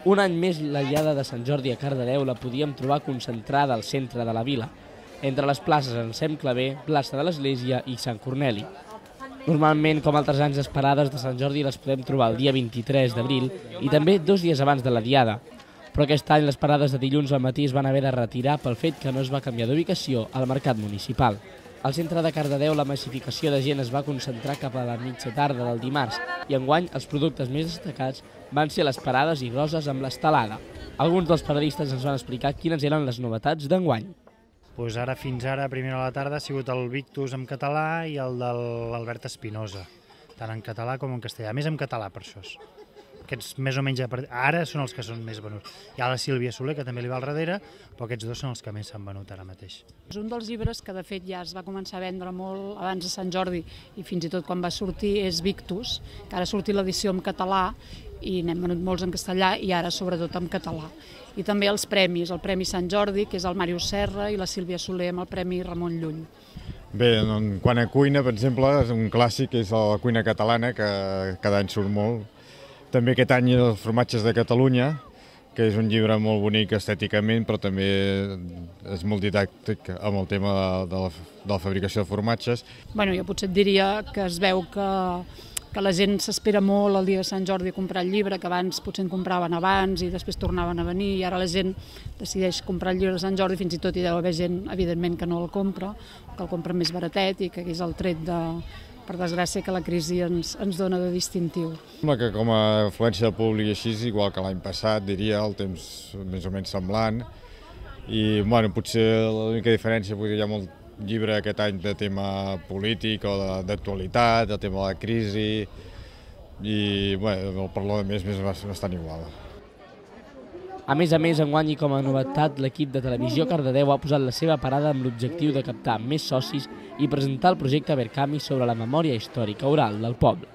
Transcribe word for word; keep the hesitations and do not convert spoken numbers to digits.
Un any més la Diada de Sant Jordi a Cardedeu la podíem trobar concentrada al centre de la vila, entre les places Anselm Clavé, plaça de l'Església i Sant Corneli. Normalment, com altres anys, les parades de Sant Jordi les podem trobar el dia vint-i-tres d'abril i també dos dies abans de la Diada. Però aquest any les parades de dilluns al matí es van haver de retirar pel fet que no es va canviar d'ubicació al mercat municipal. Al centre de Cardedeu la massificació de gent es va concentrar cap a la mitja tarda del dimarts i enguany els productes més destacats van ser les parades i roses amb l'estelada. Alguns dels paradistes ens van explicar quines eren les novetats d'enguany. Pues ara, fins ara, a primera hora de la tarda, ha sigut el Victus en català i el de l'Albert Espinosa, tant en català com en castellà, més en català per això. Aquests més o menys ara són els que són més venuts. Hi ha la Sílvia Soler, que també li va al darrere, però aquests dos són els que més s'han venut ara mateix. És un dels llibres que de fet ja es va començar a vendre molt abans de Sant Jordi i fins i tot quan va sortir és Victus, que ara ha sortit l'edició en català i n'hem venut molts en castellà i ara sobretot en català. I també els premis, el Premi Sant Jordi, que és el Màrius Serra, i la Sílvia Soler amb el Premi Ramon Llull. Bé, en quant a cuina, per exemple, és un clàssic, és la cuina catalana, que cada any surt molt. També aquest any els formatges de Catalunya, que és un llibre molt bonic estèticament, però també és molt didàctic amb el tema de la, de la fabricació de formatges. Bueno, jo potser et diria que es veu que, que la gent s'espera molt el dia de Sant Jordi a comprar el llibre, que abans potser en compraven abans i després tornaven a venir, i ara la gent decideix comprar el llibre de Sant Jordi, fins i tot hi deu haver gent, evidentment, que no el compra, que el compra més baratet i que és el tret de... per desgràcia que la crisi ens, ens dona de distintiu. Sembla que com a afluència de públic així és igual que l'any passat, diria, el temps més o menys semblant. I bueno, potser l'única diferència, vull dir, hi ha molt llibre aquest any de tema polític o d'actualitat, de tema de la crisi, i bueno, per lo més, més bastant igual. A més a més, enguany i com a novetat, l'equip de Televisió Cardedeu ha posat la seva parada amb l'objectiu de captar més socis i presentar el projecte Verkami sobre la memòria històrica oral del poble.